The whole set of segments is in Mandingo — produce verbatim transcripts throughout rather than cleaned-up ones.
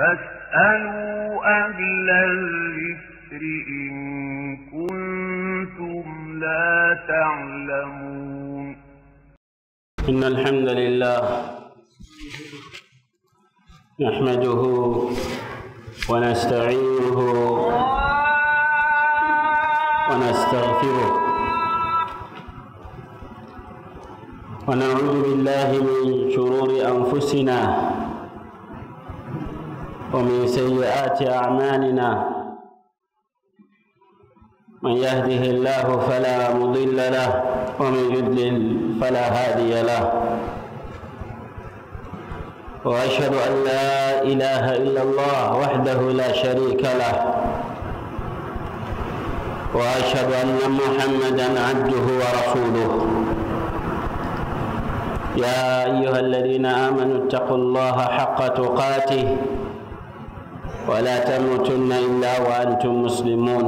فاسألوا أهل الذكر إن كنتم لا تعلمون. إن الحمد لله نحمده ونستعينه ونستغفره، ونعوذ بالله من شرور أنفسنا ومن سيئات أعمالنا. من يهده الله فلا مضل له، ومن يضلل فلا هادي له. وأشهد أن لا إله إلا الله وحده لا شريك له، وأشهد أن محمدا عبده ورسوله. يا أيها الذين آمنوا اتقوا الله حق تقاته ولا تموتن إلا وأنتم مسلمون.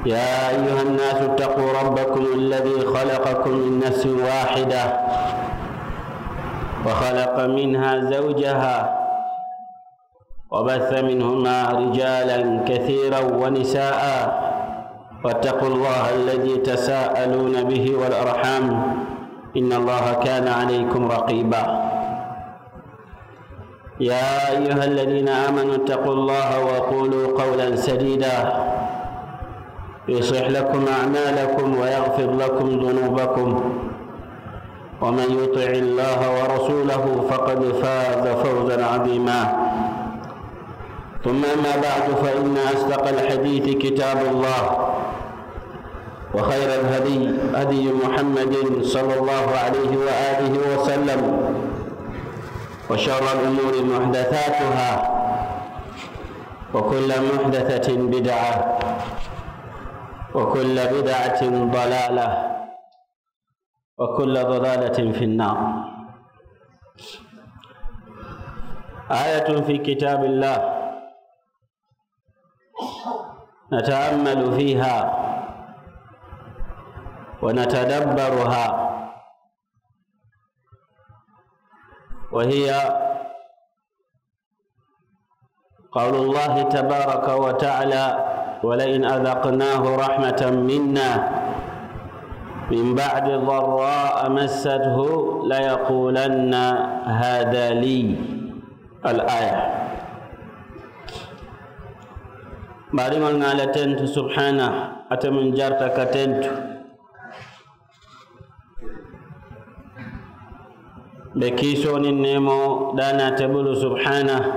يا أيها الناس اتقوا ربكم الذي خلقكم من نفس واحدة وخلق منها زوجها وبث منهما رجالا كثيرا ونساء، واتقوا الله الذي تساءلون به والأرحام، إن الله كان عليكم رقيبا. يا أيها الذين آمنوا اتقوا الله وقولوا قولا سديدا، يصلح لكم أعمالكم ويغفر لكم ذنوبكم، ومن يطع الله ورسوله فقد فاز فوزا عظيما. ثم أما بعد، فإن أصدق الحديث كتاب الله، وخير الهدي هدي محمد صلى الله عليه وآله وسلم، وشر الأمور محدثاتها، وكل محدثة بدعة، وكل بدعة ضلالة، وكل ضلالة في النار. آية في كتاب الله نتأمل فيها ونتدبرها، وهي قول الله تبارك وتعالى: ولئن أذقناه رحمة منا من بعد ضراء مسته ليقولن هذا لي. الآية. Baadiŋolu ŋa a la tentu subhaanahu, ate meŋ jarita ka tentu. Be kiisoo niŋ neemoo daa naata bulu subhaanahu.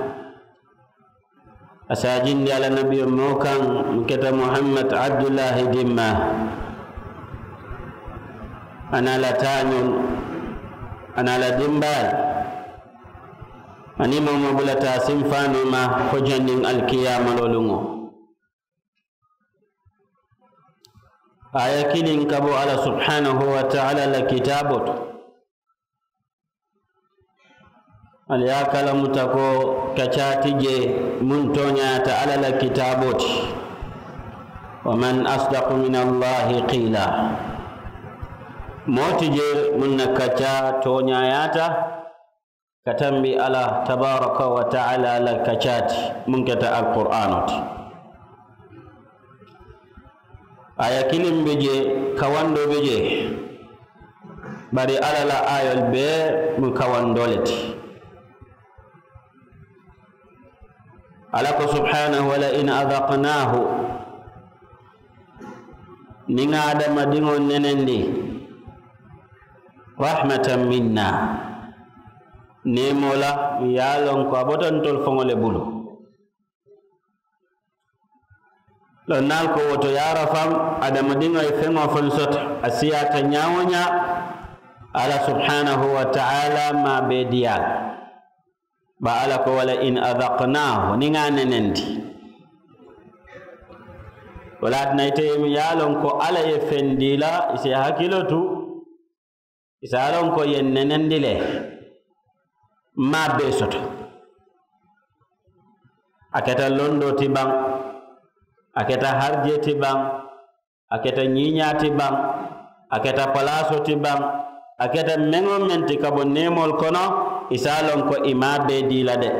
A si a jindi a la nabiyo moo kaŋ, meŋ keta Muhammad Abdullahi dimma, a niŋ a la taañoolu, a niŋ a la dimbaalu, aniŋ moo wo moo bulata a sinfaanoo ma fo janniŋ alkiyaama looluŋo. Aaya kiliŋ ka bo Alla subhaanahu wa taala la kitaaboo to. Ali ye a kalamuta ko kacaa ti jee muŋ tooñaata Alla la kitaaboo ti. ومن أصدق من الله قيلا. Moo ti jee muŋ na kacaa tooñaayaata ka tambi Alla tabaaraka wa taala la kacaa ti, muŋ keta alquraanoo ti. Aaya kiliŋ be jee, kawandoo be jee, bari Alla la aayoolu bee mu kawandoo le ti. Alla ko subhaanahu, ولئن أذقناه, niŋ ŋa hadamadiŋo nenendi, رحمة منا, neemoo la, ye a loŋ ko a bota ntolu faŋo le bulu. Lonnaalu ko wo to, yaarafaŋ, hadamadiŋo ye feŋ wo feŋ soto, a siyaata ñaa woo ñaa, Alla subhaanahu wa taala maŋ a bee dii a la. Bari Alla ko, ولئن أذقناه, niŋ ŋa a nenendi. Wo le ye a tinna ite ye a loŋ ko Alla ye feŋ dii la, i si i hakiloo tu, i si a loŋ ko i ye nenendi le, maŋ a bee soto. A keta londoo ti baŋ, a keta harijee ti baŋ, a keta ñiiñaa ti baŋ, a keta palaasoo ti baŋ, a keta meŋ wo meŋ ti ka bo neemoolu kono, I si a loŋ ko i maŋ a bee dii la de.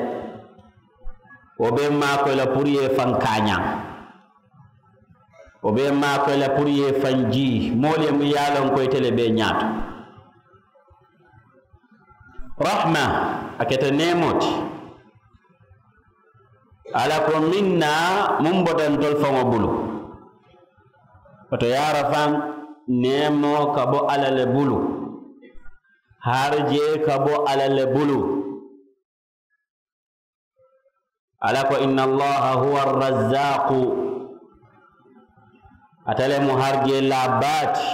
Wo be maŋ a koyi la puru i ye i faŋ kaañaŋ. Wo be maŋ a koyi la puru i ye i faŋ jii moolu ye muŋ ye a loŋ ko ite le be i ñaato. Rahma, a keta neemoo ti. Alla ko minna, muŋ bota ntolu faŋo bulu. Wo to yaara faŋ, neemoo ka bo alla le bulu. Harijee ka bo alla le bulu. Alla ko inna allaha huwa arrazzaqu. Ate le mu harijee laa baa ti.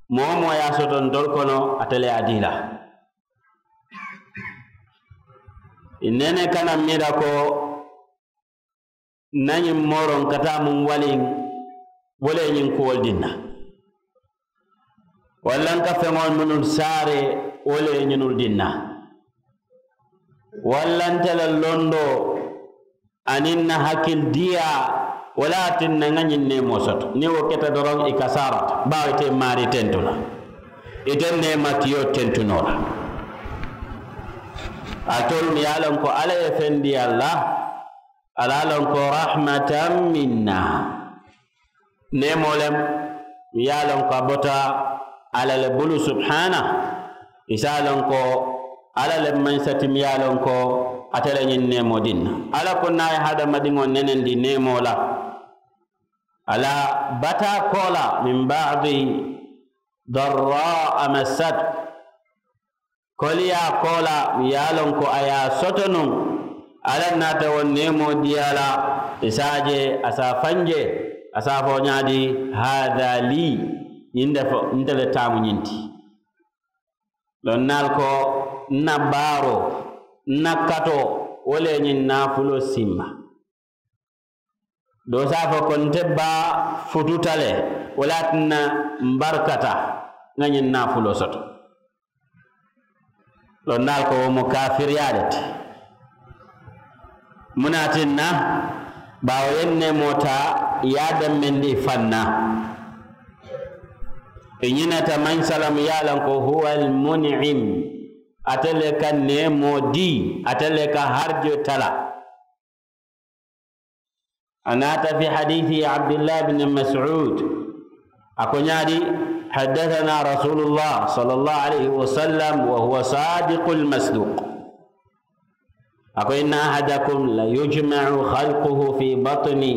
Moo wo moo ye a soto ntolu kono, ate le ye a dii la. I nene kana miira ko n na ñiŋ mooroŋ ka taa muŋ waliŋ, wo le ye ñiŋ kuwolu dinna. Walla n ka feŋolu mennu saare, wo le ye ñinnu dinna. Walla nte la londoo aniŋ n na hakilidiyaa, wo le ye a tinna n ŋa ñiŋ neemoo soto. Niŋ wo keta doroŋ, i kasaarata, baawo ite maarii tentu la. Ite neematiyoo tentu noo la. Alitolu mu ye a loŋ ko alla ye feŋ dii a la, ali a loŋ ko rahmatan minna. Neemoo le mu ye a loŋ ko a bota alla le bulu subhaana. I si a loŋ ko alla le mansa ti mu ye a loŋ ko ate le ñiŋ neemoo dinna. Alla ko niŋ a ye hadamadiŋo nenendi neemoo la, a la bataa koolaa, min baadi darraa massat. Koliyaa koolaa mu ye a loŋ ko a ye a soto nuŋ. Alla naata wo neemoo dii a la. I si a je, a si a faŋ je, a si a fo ñaadi, haada lii, ñiŋ de fo nte le taamu ñiŋ ti. Loŋ naa ali ko n na baaroo, n na katoo, wo le ye ñiŋ naafuloo simba. Doo si a fo ko nte baa fututa le, wo le ye a tinna m barkata, n ŋa ñiŋ naafuloo soto. Loŋ naa ali ko wo mu kaafiriyaa le ti. Muŋ ne a tinna? Baawo i ye neemoo taa, i ye a dammendi i faŋ na. I ñinata maŋ salamu ye a loŋ ko huwa almuniim. Ate le ka neemoo dii, ate le ka harijoo tala. A naata fi hadiisi abdullah bin mas'ud. A ko ñaadi, haddathana rasulullah sallallahu alayhi wa sallam wa huwa sadiqul masduq. A ko inna ahadakum la yujma'u khalquhu fi batni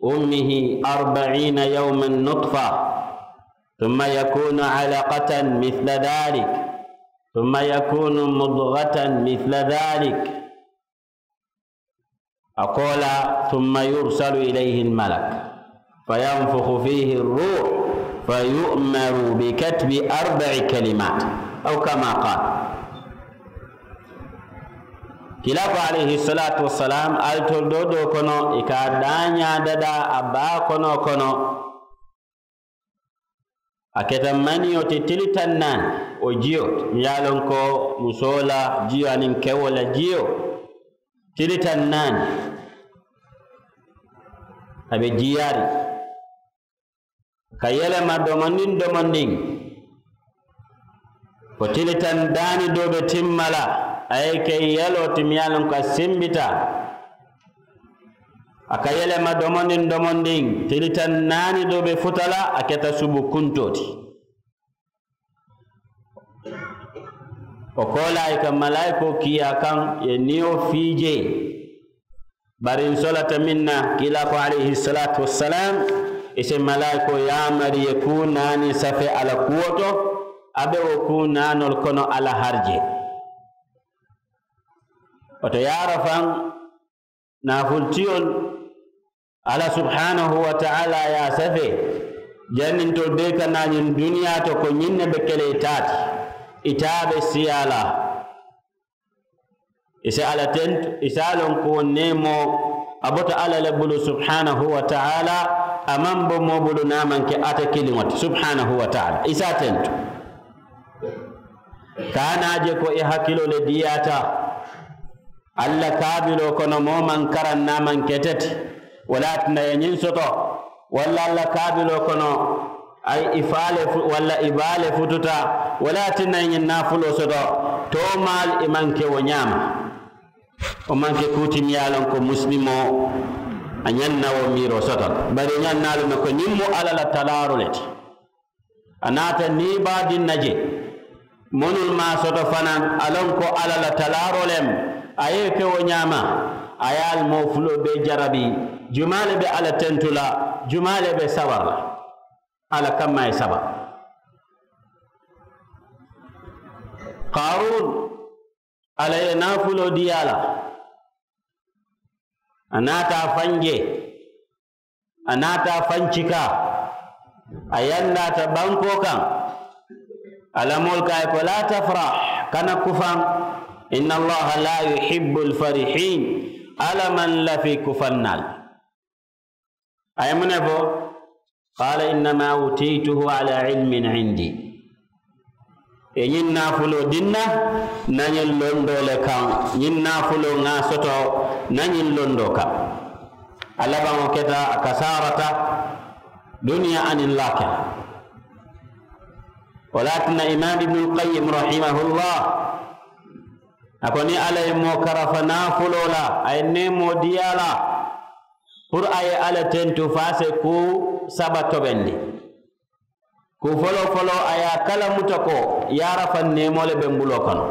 ummihi arbaina yawman nutfa, thumma yakunu alaqatan mithla dhalik, thumma yakunu mudghatan mithla dhalik. A ko la, thumma yursalu ilayhi almalak, fayanfukhu fihi arruh, fayu'maru bikatbi arba'i kalimat, aw kama qal. Kila ko alayhi salatu wassalam, alitolu doo doo kono i ka a daañaa dadaa a baa kono kono. A keta maniyo ti tili taŋ naani, wo jiyo, mi ye a loŋ ko musoo la jiyo aniŋ kewoo la jiyo, tili taŋ naani. A be jiyaariŋ, ka yelema domondiŋ domondiŋ. Fo tili taŋ daani doo be timma la, a ye ke yeloo ti mi ye a loŋ ko a simbita. A ka yelema domondiŋ domondiŋ, tili taŋ naani doo be futa la, a keta subu kuntoo ti. Wo koolaa i ka malaayikoo kii a kaŋ, i ye niyo fii jee. Bari n solata meŋ na, kiilaa ko alayhi salatu wassalam, i si malaayikoo yaamari i ye kuu naani safe a la kuwo to. A be wo kuu naanoolu kono a la harijee. Wo to yaara faŋ, naafulutiyolu, alla subhanahu wa taala ye a safe, janniŋ ntolu bee ka naa ñiŋ duniyaa to ko ñiŋ ne be ke la i taa ti, i taa be siyaa la. I si alla tentu, i si a loŋ ko wo neemoo, a bota alla le bulu subhanahu wa taala. A maŋ bo moo bulu niŋ a maŋ ke ate kiliŋo ti subhanahu wa taala, i si a tentu. Ka a naa je ko i hakiloo le diyaata. Alla kaabiloo kono moo maŋ karaŋ niŋ a maŋ ke ite ti. Wo le ye a tinna i ye ñiŋ soto. Walla alla kaabiloo kono, a ye i faa le fu walla i baa le fututa. Wo le ye a tinna i ye ñiŋ naafuloo soto. Toomaali i maŋ ke wo ñaama. Wo maŋ ke kuu ti miŋ ye a loŋ ko musilimoo a ñaŋ na wo miiroo soto la bari i ñaŋ na a loŋ ne ko ñiŋ mu alla la talaaroo le ti. A naata niibaadiŋ na je mennu maŋ a soto fanaa a loŋ ko alla la talaaroo le mu. A ye i ke wo ñaama. A ye ali moo fuloo bee jarabi. Jumaa le be alla tentu la? Jumaa le be sabari la? Alla kamma ye sabari. Qaaruun, alla ye naafuloo dii a la. A naata a faŋ je. A naata a faŋ cika. A yandaata bankoo kaŋ. Alla moolu ko a ye ko laa tafrah, kana kufaŋ. Inna allaha laa yuhibbul farihiin. Alla maŋ lafi kufaŋ naa la. A ye muŋ ne fo? Qaala innama uutiituhu ala ilmin indi. Ì ye ñiŋ naafuloo dii n na n na ñiŋ londoo le kaŋ. Ñiŋ naafuloo ŋa a soto n na ñiŋ londoo kaŋ. A labaŋo keta a kasaarata duniyaa aniŋ laakira. Wo le ye a tinna imaam ibnul qayim rahimahullah a ko niŋ alla ye moo karafa naafuloo la a ye neemoo dii a la. Puru a ye alla tentu fo a si kuu saba tobendi. Kuu foloo foloo a ye a kalamuta ko yaarafaŋ neemoo le be m buloo kono.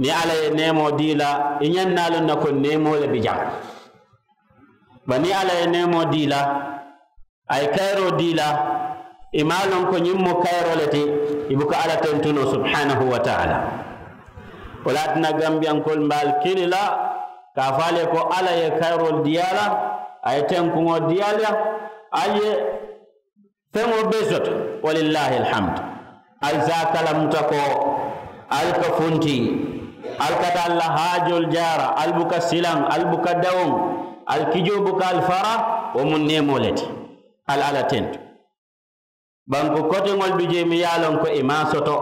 Niŋ alla ye neemoo dii la i ñaŋ na a loŋ ne ko neemoo le bi jaŋ. Bari niŋ alla ye neemoo dii la a ye kayiroo dii la i maŋ a loŋ ko ñiŋ mu kayiroo le ti. I buka alla tentu noo subhaanahu wa taala. Wo le ye a tinna gambiyankoolu mbe ali kili la ka a fo ali ye ko alla ye kayiroolu dii a la a ye tenkuŋo dii a la. Ali ye feŋo bee soto. Walillahi alhamdu. Ali si a kalamuta ko ali ka funti. Ali ka taa ali la haajoolu jaara ali buka silaŋ ali buka dawuŋ. Ali kijoo buka ali fara. Wo mu neemoo le ti. Ali alla tentu. Banku koteŋolu bi jee mi ye a loŋ ko i maŋ a soto.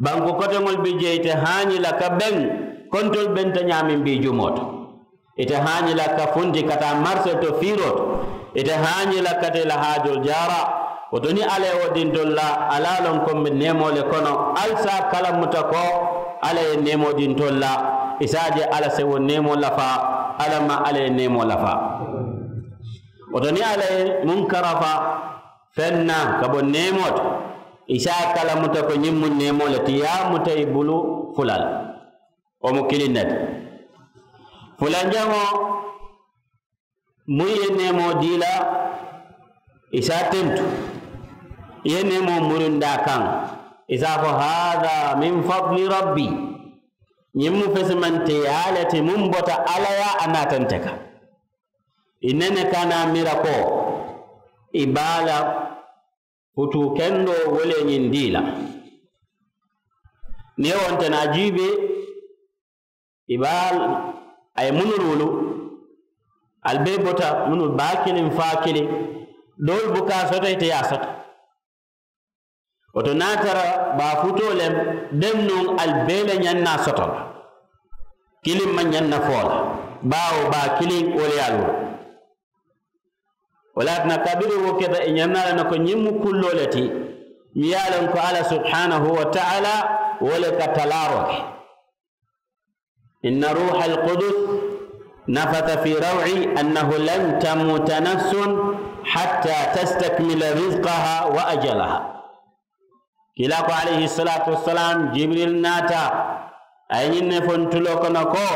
Banku koteŋolu bi jee ite haañi la ka beŋ kontolu benta ñaameŋ bii jumoo to. Ite haañi la ka funti ka taa marisee to fiiroo to. Ite haañi la ka te la haajoolu jaara. Wo to niŋ alla ye wo dii ntolu la alla ye a loŋ ko mbe neemoo le kono. Ali si a kalamuta ko alla ye neemoo dii ntolu la. I si a je alla si wo neemoo lafaa. Alla maŋ alla ye neemoo lafaa. Wo to niŋ alla ye muŋ karafa feŋ na ka bo neemoo to i si a kalamuta ko ñiŋ mu neemoo le ti ye a muta i bulu fula le. Wo mu kiliŋ ne ti. Fulanjaŋo muŋ ye neemoo dii la i si a tentu. I ye neemoo murundaa kaŋ i si a fo haada min fadli rabbi. Ñiŋ mu fesimanteyaa le ti muŋ bota alla ye a naata nte kaŋ. I nene ka naa mira ko i be a la futuu kendoo wo le ñiŋ dii la. Niŋ i wo nte naa jiibe i be a la a ye munnu luulu. Ali bee bota munnu baa kiliŋ faa kiliŋ. Doolu buka a soto ite ye a soto. Wo to niŋ a tara baa futoo le deŋ nuŋ ali bee le ñaŋ na a soto la. Kiliŋ maŋ ñaŋ na fo la baawo baa kiliŋ wo le ye a luulu. Wo le ye a tinna kabiriŋ wo keta i ñaŋ na a la ne ko ñiŋ mu kulloo le ti. Miŋ ye a loŋ ko alla subhaanahu wa taala wo le ka talaaroo ke. Inna ruuha alkudus nafata fi rawci annahu lan tamuuta nafsun hatta tastakmila rizqaha wa ajalaha. Kiilaa ko alayhi salaatu wasalaam jibril naata a ye ñiŋ ne fo ntuloo kono ko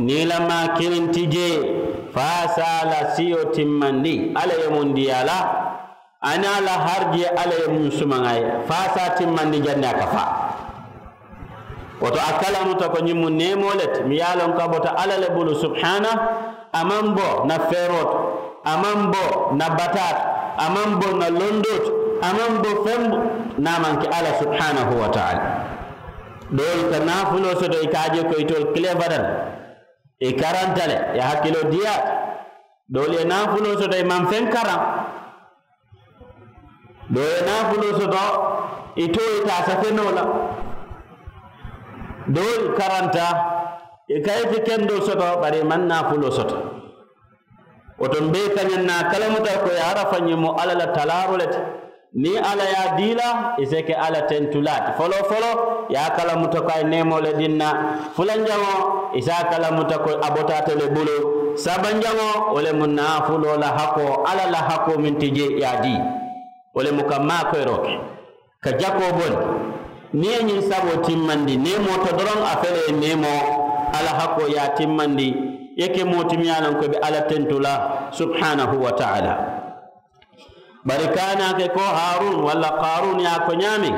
niilamaa kiliŋ ti jee fo a si a la siyo timmandi alla ye muŋ dii a la. A niŋ a la harijee alla ye muŋ sumaŋ a ye fo a si a timmandi janniŋ a ka faa. Wo to a kalamuta ko ñiŋ mu neemoo le ti miŋ ye a loŋ ko a bota alla le bulu subhaana. A maŋ bo na feeroo to a maŋ bo na bataa to a maŋ bo na londoo to a maŋ bo feŋ bo. Niŋ a maŋ ke alla subhaanahu wa taala doolu ka naafuloo soto i ka a je ko itoolu kilee fata le i karanta le i hakiloo diyaata. Doolu ye naafuloo soto i maŋ feŋ karaŋ. Doo ye naafuloo soto i too ye taa safenoo la. Doolu karanta i ka ite kendoo soto bari i maŋ naafuloo soto. Wo to mbe i kañaŋ na a kalamuta ko ye arafa ñiŋ mu alla la talaaroo le ti. Niŋ alla ye a dii la, i si ke alla tentulaa ti foloo foloo, i ye a kalamuta ko a ye neemoo le dinna. Fulanjaŋo, i si a kalamuta ko a bota ate le bulu. Sabanjaŋo, wo le mu naafuloo la hakoo, alla la hakoo meŋ ti jee i ye a dii. Wo le mu ka maakoyiroo ke, ka jakoo bondi. Niŋ i ye ñiŋ saboo timmandi, neemoo to doroŋ a fele ye neemoo, alla hakoo ye a timmandi. I ye ke moo ti miŋ ye a loŋ ko i be alla tentu la, subhanahu wa taala. Bari ka a naa ke ko haaruun walla qaaruun ye a ko ñaameŋ,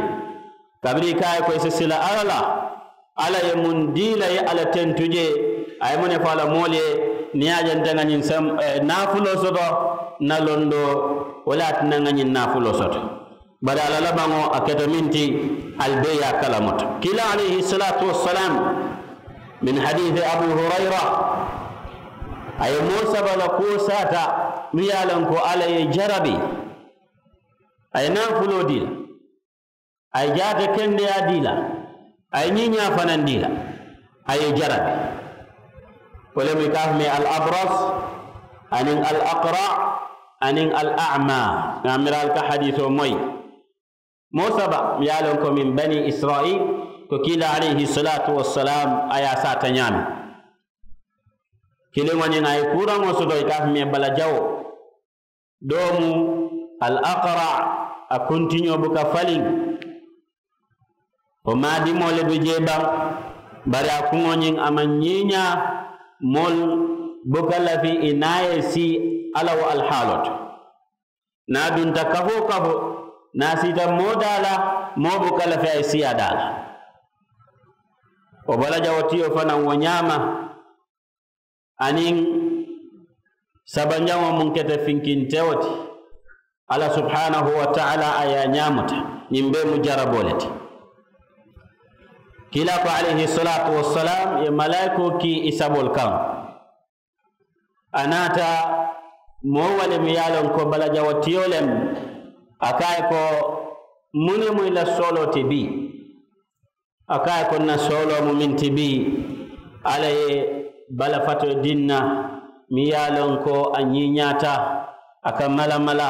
kabiriŋ i ka a ye ko i si sila alla la, alla ye muŋ dii la i ye alla tentu jee? A ye muŋ ne fo a la moolu ye? Niŋ i ye a je nte ŋa ñiŋ naafuloo soto, n na londoo wo le ye a tinna ŋa ñiŋ naafuloo soto. Bari a la labaŋo a keta meŋ ti, ali bee ye a kalamuta. Kiilaa alayhi salaatu wassalaam, min hadiisi abu hurayra, a ye moo saba la kuwo saata, miŋ ye a loŋ ko alla ye i jarabi. A ye naafuloo dii la, a ye jaata kendeyaa dii la, a ye ñiiñaa fanaŋ dii la, a ye i jarabi. Wo le mu i ka a fo mee al abras, aniŋ al aqra, aniŋ al ama. Ŋa a miira ali ka hadiisoo moyi. Moo saba ye a loŋ ko min bani israil, ko kiilaa alayhi salaatu wassalaam a ye a saata ñaameŋ. Kiliŋo ñiŋ a ye kuuraŋo soto i ka a fo mee bala jawoo. Doo mu al aqra, a kuntiñoo buka faliŋ. Wo maadimoo le be jee baŋ. Bari a kuŋo ñiŋ a maŋ ñiiñaa. Moolu buka lafi i niŋ a ye sii alla wo alihaaloo to. Niŋ a dunta kafoo kafo, niŋ a siita moo daa la, moo buka lafi a ye sii a daa la. Wo bala jawoo tiyo fanaŋ wo ñaama. Aniŋ sabanjaŋo muŋ keta finkintewo ti, alla subhanahu wa taala a ye a ñaamuta. Ñiŋ bee mu jaraboo le ti. Kiilaa ko alayhi salaatu wassalaam ye malaayikoo kii i saboolu kaŋ. A naata moo wo le mu ye a loŋ ko bala jawoo tiyo le mu. A ko a ye ko, muŋ ne mu i la sooloo ti bii? A ko a ye ko n na sooloo mu meŋ ti bii, alla ye bala fatoo dii n na, meŋ ye a loŋ ko a ñiiñaata, a ka malamala,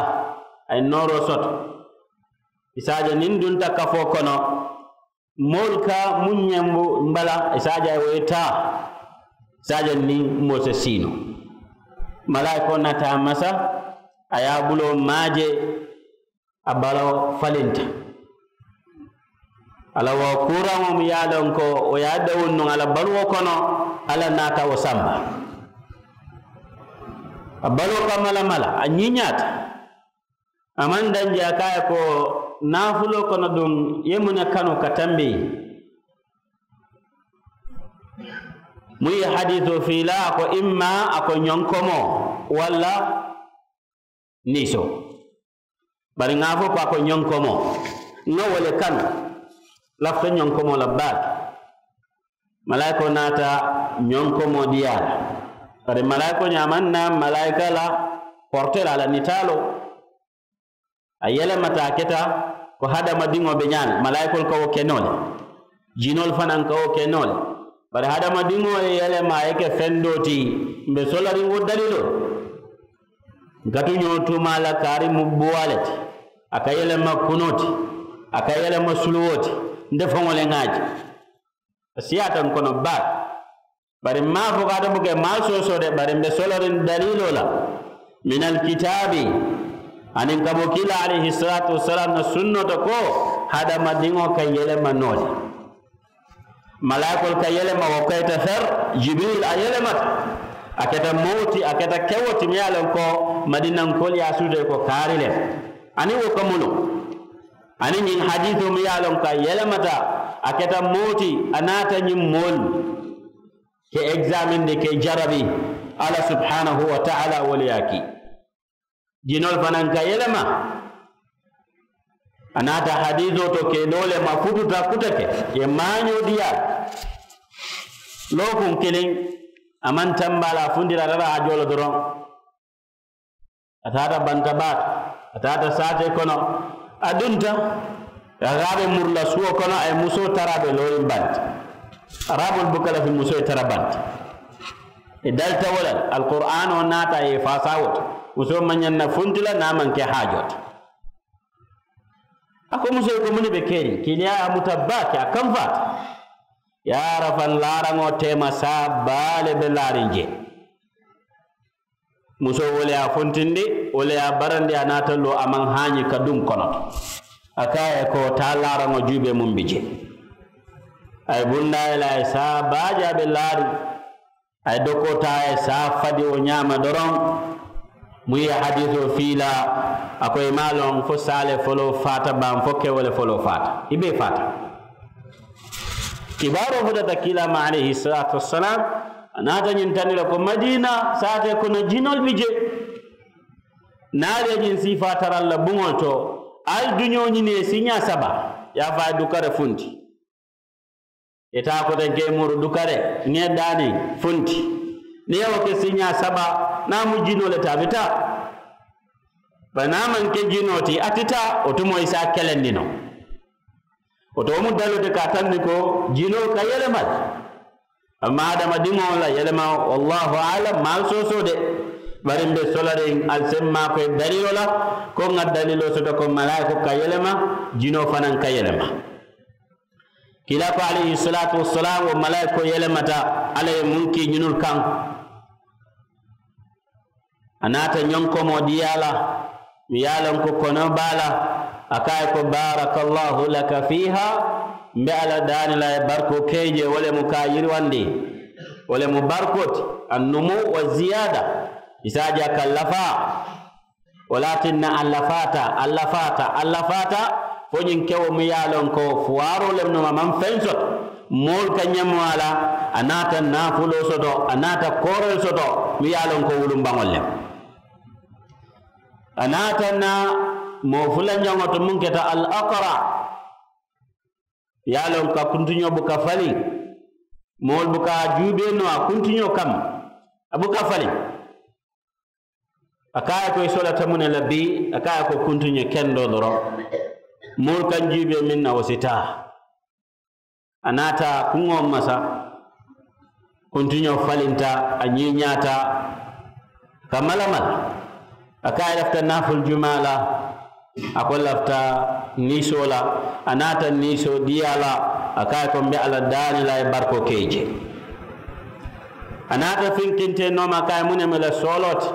a ye nooroo soto. I si a je niŋ n dunta kafoo kono, moolu ka muŋ ñembu n bala, i si a je a ye wo ye taa. I si a je niŋ moo si sii noo. Malaayikoo naata a masa, a ye a buloo maaje. A baloo falinta. A la wo kuuraŋo mu ye a loŋ ko wo ye a dawuŋ nuŋ a la baluwo kono. Alla naata wo samba. A baloo ka malamala, a ñiiñaata. A maŋ danji a ka a ye ko naafuloo kono duŋ ye muŋ ne kanu ka tambi? Muŋ ye hadiisoo fii la a ko imma a ko ñonkomoo walla niisoo. Bari ŋa a fo ko a ko ñonkomoo, ŋa wo le kanu. Lafita ñonkomoo la baake. Malaayikoo naata ñonkomoo diyaa la. Bari malaayikoo ñaamaŋ na malaayika la portee la a la nitaaloo. A yelemata a keta ko hadamadiŋo be ñaami malaayikoolu ka wo ke noo le. Jinoolu fanaŋ ka wo ke noo le. Bari hadamadiŋo ye yelema a ye ke feŋ doo ti. Mbe solariŋ wo daliloo. N ka tuñoo tuumaa la kaari mu buwaa le ti. A ka yelema kunoo ti. A ka yelema suluwoo ti. Nte faŋo le ŋa a je. A siyaata n kono baake. Bari mmaa fo ka a te buke mmaa soosoo de bari mbe soloriŋ daliiloo la. Minal kitaabi. Aniŋ ka bo kiila alayhi salaatu wasalaam na sunnoto ko hadamadiŋo ka yelema noo le. Malaayikoolu ka yelema wo kayita fer. Jibiril a yelemata. A keta mooti a keta kewoti mi ye a loŋ ko madinankoolu ye a suutee ko kaari le. Aniŋ wo ka munu. Aniŋ ñiŋ hadiisoo mi ye a loŋ ko a yelemata. A keta mooti a naata ñiŋ moolu ke egzaameŋ de ke jarabi. Alla subhaanahu wa taala wo le ye a kii. Jinoolu fanaŋ ka yelema. A naata hadiisoo to ke doo le ma fututa kuta ke ye maañoo diyaa. Lookuŋ kiliŋ a maŋ tambaa la a funtita a tara a joo le doroŋ. A taata banta baata. A taata saatee kono. A dunta a ka a be muru la suwo kono a ye musoo tara a be looriŋ banta. Araabul buka lafi musoo ye tara banta. I dalita wo le la alquraanoo naata a ye i faasaa wo to. Musoo maŋ ñaŋ na funti la niŋ a maŋ ke haajoo ti. A ko musoo ye ko muŋ ne be keriŋ kiiliyaa ye a muta baake a kamfaata. Yaara faŋ laaraŋo teema saa baa le be laariŋ jee. Musoo wo le ye a funtindi wo le ye a barandi a naata loo a maŋ haañi ka duŋ kono to. A ka a ye ko taa laaraŋo juubee muŋ bi jee. A ye bundaa ye le a ye saa baa jaabe laari. A ye dokoo taa a ye saa fadi wo ñaama doroŋ. Muŋ ye hadiisoo fii la a ko i maŋ a loŋ fo saa le foloo faata baŋ fo kewo le foloo faata i bee faata. Kibaaroo futata kiilaa ma alayhi salaatu wassalaamu. A naata ñiŋ tandi la ko madiina saatee kono jinoolu bi jee. Niŋ ali ye ñiŋ siifaa tara ali la buŋolu to ali duñoo ñini ye siiñaa saba. Ye a fo a ye dukare funti. Ì taa kotenke muuru dukare ŋee daani funti. Niŋ ye wo ke siiñaa saba niŋ a mu jinoo le ti a bi taa. Bari niŋ a maŋ ke jinoo ti a ti taa wo tumoo i si a kelendi noo. Wo to wo mu daloo ti ka a tandi ko jinoo ka yelema le. Amma adamadiŋo la yelema wallahu alam maŋ soosoo de. Bari mbe solariŋ ali se maakoyi daliiloo la ko ŋa daliiloo soto ko malaayikoo ka yelema jinoo fanaŋ ka yelema. Kiilaa ko alayhi salaatu wassalaamu wo malaayikoo yelemata alla ye muŋ kii ñinulu kaŋ. A naata ñonkomoo dii a la. Mi ye a loŋ ko konoo be a la. A ko a ye ko baaraka allahu laka fiiha. Mbe alla daani la ye barikoo ke i je wo le mu ka a yiriwandi. Wo le mu barikoo ti annumu wa ziyaada. I si a je a ka lafaa. Wo le ye a tinna a lafaata a lafaata a lafaata. Fo ñiŋ kewo mu ye a loŋ ko fuwaaroo le mu noo a maŋ feŋ soto. Moolu ka ñamoo a la. A naata naafuloo soto a naata kooroo soto mu ye a loŋ ko wulumbaŋolu le mu. A naata na moo fulanjaŋo to muŋ keta al akara. Ye a loŋ ka kuntiñoo buka faliŋ. Moolu buka a juubee noo a kuntiñoo kamma. A buka faliŋ. A ko a ye ko i solata muŋ ne la bii a ko a ye ko kuntiñoo kendoo doroŋ. Moolu ka n juubee meŋ na wo si taa. A naata kuŋo masa. Kuntiñoo falinta a ñiiñaata. Ka mala mala a ko a ye lafita naafulu jumaa la. A ko lafita niisoo la. A naata niisoo dii a la. A ko a ye ko mbe alla daani la a ye barikoo ke i je. A naata finkintee nooma a ko a ye muŋ ne mu i la sooloo ti.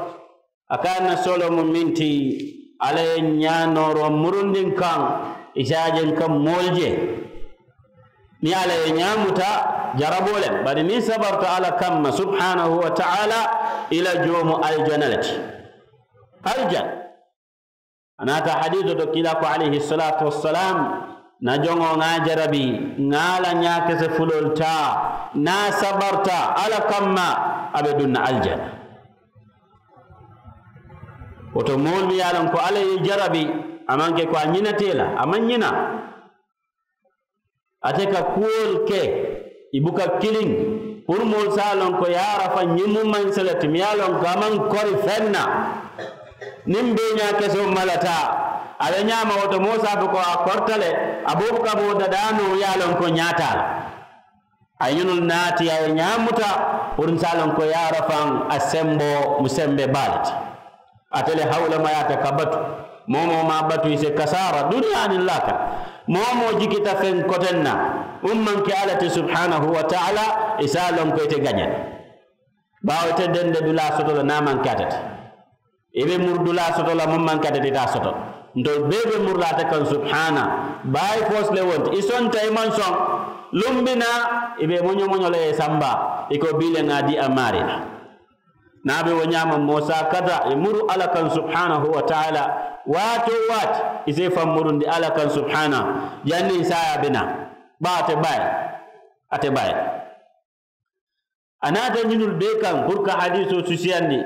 A ko a ye n na sooloo mu meŋ ti alla ye ñaanooroo murundi n kaŋ. I si a je n ka moolu je. Niŋ alla ye ñaa muta jaraboo le bari niŋ sabarta alla kamma subhaanahu wa taala. I la joo mu alijana le ti. Alijana. A naata hadiisoo to kiilaa ko alayhi salaatu wassalaamu. N na joŋo ŋa a jarabi ŋa a la ñaakese fuloolu taa. Niŋ a sabarta alla kamma a be duŋ na alijana. Wo to moolu mu ye a loŋ ko alla ye i jarabi. A maŋ ke ko a ñinata i la a maŋ ñina. Ate ka kuwolu ke i buka kiliŋ. Puru moolu si a loŋ ko yaarafa ñiŋ mu mansa le ti mu ye a loŋ ko a maŋ kori feŋ na. Niŋ bee ñaa kesoo malata a be ñaama wo to moo si a fo ko a korita le. A boobu ka moo dadaa noo ye a loŋ ko ñaataa la. A ye ñunu naati a ye ñaamuta. Puru n si a loŋ ko yaarafaŋ a semboo mu sembee baa le ti. Ate le hawulamayaata ka batu. Moo moo maŋ a batu i si kasaara duniyaa niŋ laakara. Moo moo jikita feŋ koteŋ na. Muŋ maŋ ke alla ti subhaanahu wa taala i si a loŋ ko ite gañe la. Baawo ite dende dulaa soto la niŋ a maŋ ke ate ti. I be muru dulaa soto la muŋ maŋ ke ate ti ite a soto la. Ntolu bee be muru la ate kaŋ subhaana. Baayi foosi le wo nti i sonta i maŋ soŋ. Lumbi naa i be moño moño la ye samba i ko bii le ŋa a dii a maarii la. Niŋ a be wo ñaama moo si a kata i muru alla kaŋ subhaanahu wa taala. Waati wo waati i si i faŋ murundi alla kaŋ subhaana. Janniŋ saayaa be naa baa ate baayi. Ate baayi. A naata ñinulu bee kaŋ puru ka hadiisoo susiyandi.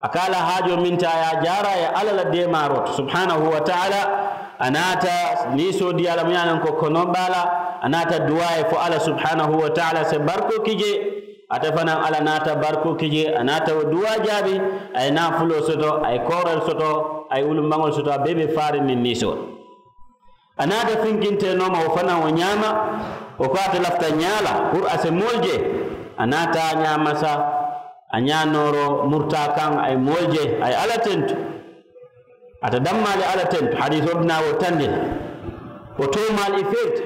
A ka a la haajoo meŋ ti a ye a jaara a ye alla la deemaaroo to subhaanahu wa taala. A naata niisoo dii a la mu ye a loŋ ko konoo be a la. A naata duwaa ye fo alla subhaanahu wa taala si barikoo ki jee. Ate fanaa alla naata barikoo ki jee a naata wo duwaa jaabi. A ye naafuloo soto a ye kooroo soto a ye wulumbaŋolu soto a bee be faariŋ niŋ niisoo. A naata finkintee nooma wo fanaa wo ñaama. Wo ko ate lafita ñaa la puru a si moolu je. A naata a ñaamasa a ñaa nooroo murtaa kaŋ a ye moolu je a ye alla tentu. Ate dammaa le alla tentu hadiisoo bi naa wo tandi la. Wo toomaali i feerita.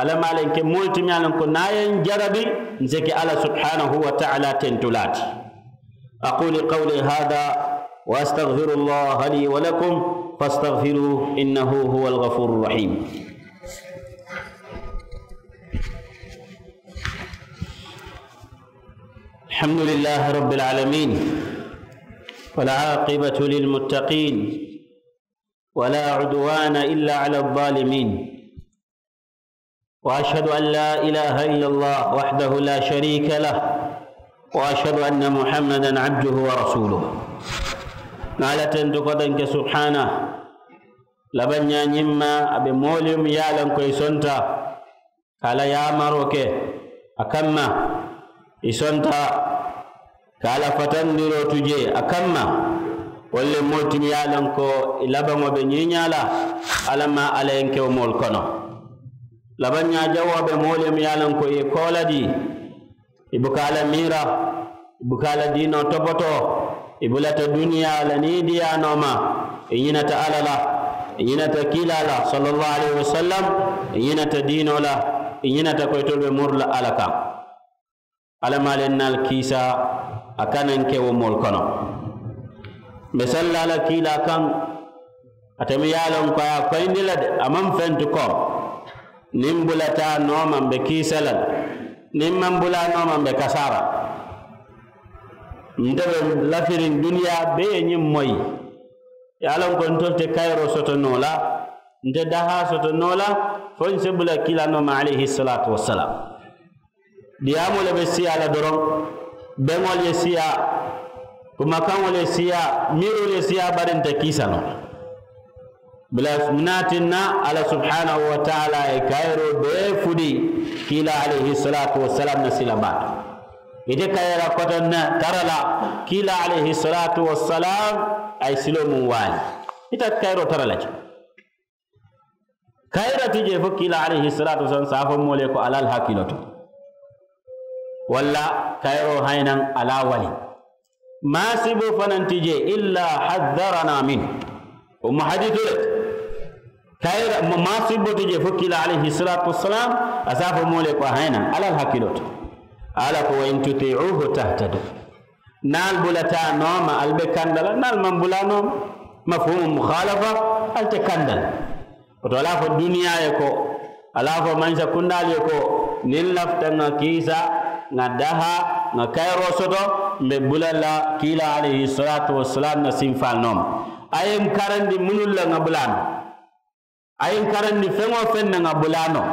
Alla maaleŋ ke moolu ti miŋ ye a loŋ ko niŋ a ye n jarabi, n si ke alla subhaanahu wa taala tentulaa ti. Aquulu qawlii haadaa, wa astagfirullaaha lii wa lakum, fastagfiruuhu innahu huwal gafuurur rahiim. Alhamdulillaahi rabbil aalamiin. Wal aaqibatu lil muttaqiin. Wa laa udwaana illaa alaz zaalimiin. Wa ashhadu an laa ilaaha illallaahu wahdahu laa shariika lahu. Wa ashhadu anna Muhammadan abduhu wa rasuuluhu. Ŋà alla tentu kotenke subhaanahu. Labaŋ ñaa ñiŋ ma a be moolu ye mu ye a loŋ ko i sonta ka a la yaamaroo ke a kamma, i sonta ka a la fatandiroo tu jee a kamma. Wolu le moolu ti mu ye a loŋ ko i labaŋo be ñiiñaa la. Alla maŋ alla ye n ke wo moolu kono. Labaŋ ñaa jawoo be moolu ye mu ye a loŋ ko i ye koola dii. I buka a la miira, i buka a la diinoo topotoo. I bulata duniyaa la niidiyaa nooma. I ñinata alla la, i ñinata kiilaa la sallallahu alayhi wasallam. I ñinata diinoo la, i ñinata ko itolu be muru la alla kaŋ. Alla maŋ a le n na ali kiisa a kana n ke wo moolu kono. Mbe salla la kiilaa kaŋ. Ate mu ye a loŋ ko a ye a koyindi le de a maŋ fentu ko niŋ bulataa nooma mbe kiisa la le. Niŋ maŋ bulaa nooma mbe kasaara. Nte be lafiriŋ duniyaa bee ye ñiŋ moyi. Ye a loŋ ko ntolu te kayiroo soto noo la, nte dahaa soto noo la, fo n si bula kiilaa nooma alayhi salaatu wasalaam. Diyaamoo le be siyaa la doroŋ. Beŋolu ye siyaa, kumakaŋolu ye siyaa, miiroolu ye siyaa bari nte kiisa noo. Bula munaatinna alla subhaanahu wa taala ye kayiroo bee fudi kiila alayhi salaatu wasalaam na sila baa to. Ite kayira koto na tara la kiila alayhi salaatu wasalaam a ye siloo muŋ waali. Ite kayiroo tara la je. Kayira ti jee fo kiila alayhi salaatu wasalaam saafo moolu ye ko alal hakkiloo to. Walla kayiroo hayinaŋ alaa wali. Maasiboo fanaŋ ti jee illa haddaranaa min. Wo mu hadiitoo le ti. Kayira maasiboo ti jee fo kiila alayhi salaatu wasalaam a saafo moolu ye ko hayinaŋ alal hakkiloo to. Alla ko wa in tutiiuhu tahtadu. Niŋ ali bulata a nooma ali be kanda la niŋ ali maŋ bula a nooma. Mafuhumu mukhalafa. Ali te kanda la. Woto ali a fo duniyaa ye ko ali a fo mansa kundaalu ye ko niŋ n lafita ŋa kiisa ŋa daha ŋa kayiroo soto mbe bula la kiila alayhi salaatu wasalaam na sinfaalu nooma. A ye n karandi munulu la ŋa bula a nooma. A ye n karandi feŋ-wo-feŋ na ŋa bula a noo.